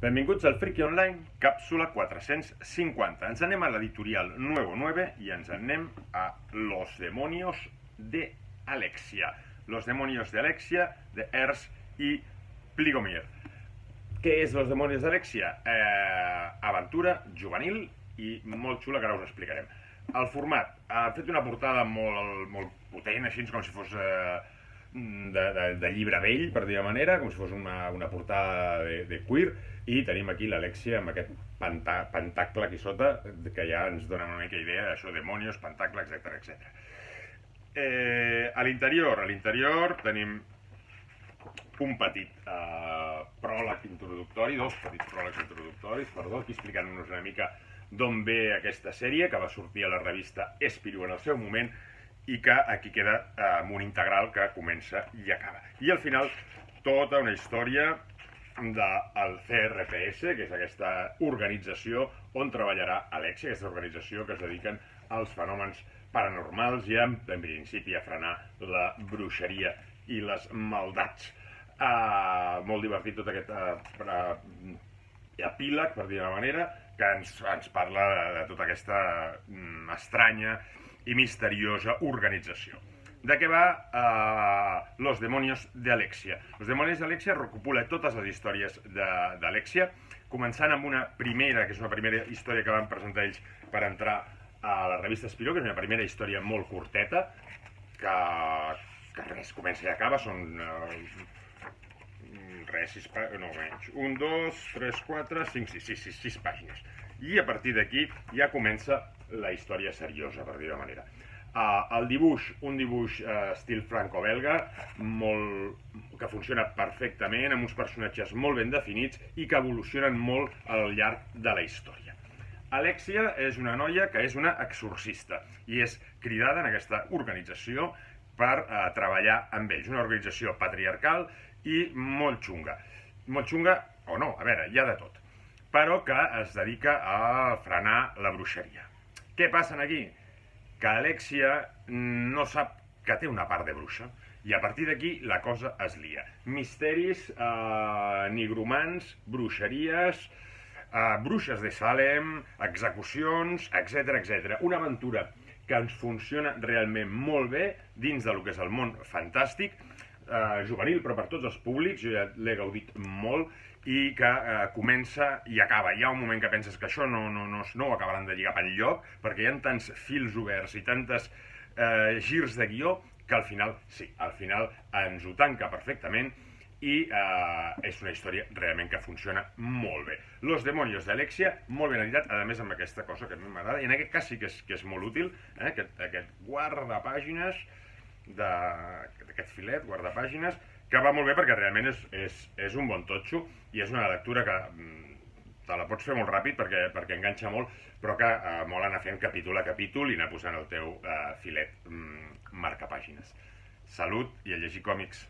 Benvinguts al Friki Online, càpsula 450. Ens anem a l'editorial Nuevo 9 i ens anem a Los Demonios de Alexia. Los Demonios de Alexia, de Ernst i Pligomir. Què és Los Demonios de Alexia? Aventura juvenil i molt xula, que ara us explicarem. El format, ha fet una portada molt potent, així com si fos de llibre vell, per dir-ho manera, com si fos una portada de queer, i tenim aquí l'Alexia amb aquest pentacle aquí sota, que ja ens dona una mica idea d'això, demonios, pentacle, etc. A l'interior tenim un petit pròleg introductori, dos petits pròlegs introductoris, perdó, aquí explicant-nos una mica d'on ve aquesta sèrie, que va sortir a la revista Espirou en el seu moment, i que aquí queda amb un integral que comença i acaba. I al final, tota una història del CRPS, que és aquesta organització on treballarà Alexia, aquesta organització que es dediquen als fenòmens paranormals i en principi a frenar la bruixeria i les maldats. Molt divertit tot aquest epíleg, per dir-ho d'una manera, que ens parla de tota aquesta estranya i misteriosa organització. De què va Los Demonios de Alexia? Los Demonios de Alexia recopila totes les històries d'Alexia, començant amb una primera, que és una primera història que van presentar ells per entrar a la revista Espirou, que és una primera història molt curteta, que res, comença i acaba, són res, 6 pàgines, no menys, 1, 2, 3, 4, 5, 6 pàgines. I a partir d'aquí ja comença la història seriosa, per dir-ho de manera. El dibuix, un dibuix estil franco-belga, que funciona perfectament, amb uns personatges molt ben definits i que evolucionen molt al llarg de la història. Alexia és una noia que és una exorcista i és cridada en aquesta organització per treballar amb ells. Una organització patriarcal i molt xunga. Molt xunga, o no, a veure, hi ha de tot, però que es dedica a frenar la bruixeria. Què passa aquí? Que Alexia no sap que té una part de bruixa, i a partir d'aquí la cosa es lia. Misteris, nigromants, bruixeries, bruixes de Salem, execucions, etc. Una aventura que ens funciona realment molt bé dins del que és el món fantàstic, juvenil, però per tots els públics, jo ja l'he gaudit molt, i que comença i acaba. Hi ha un moment que penses que això no ho acabaran de lligar per enlloc, perquè hi ha tants fils oberts i tantes girs de guió, que al final, sí, al final ens ho tanca perfectament i és una història realment que funciona molt bé. Los Demonios d'Alexia, molt ben editat, a més amb aquesta cosa que a mi m'agrada, i en aquest cas sí que és molt útil, aquest guardapàgines, d'aquest filet, guardapàgines, que va molt bé perquè realment és un bon totxo i és una lectura que te la pots fer molt ràpid perquè enganxa molt, però que molt anar fent capítol a capítol i anar posant el teu filet marcapàgines. Salut i a llegir còmics.